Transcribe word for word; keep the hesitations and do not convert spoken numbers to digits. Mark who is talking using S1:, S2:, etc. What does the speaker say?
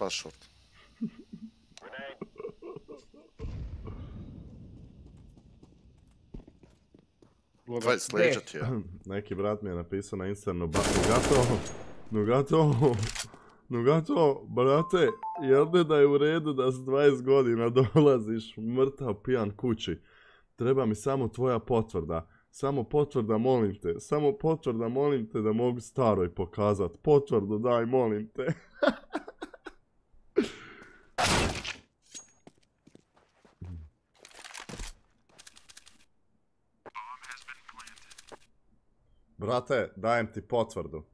S1: flash short. Vaj, sleđa ti ja.
S2: Neki brat mi je napisao na Instagramu, Nugato, Nugato, Nugato, brate, jel ne da je u redu da s dvadeset godina dolaziš mrtav pijan kući? Treba mi samo tvoja potvrda. Samo potvrda, molim te. Samo potvrda, molim te da mogu staroj pokazat. Potvrdu daj, molim te. Brate, dajem ti potvrdu.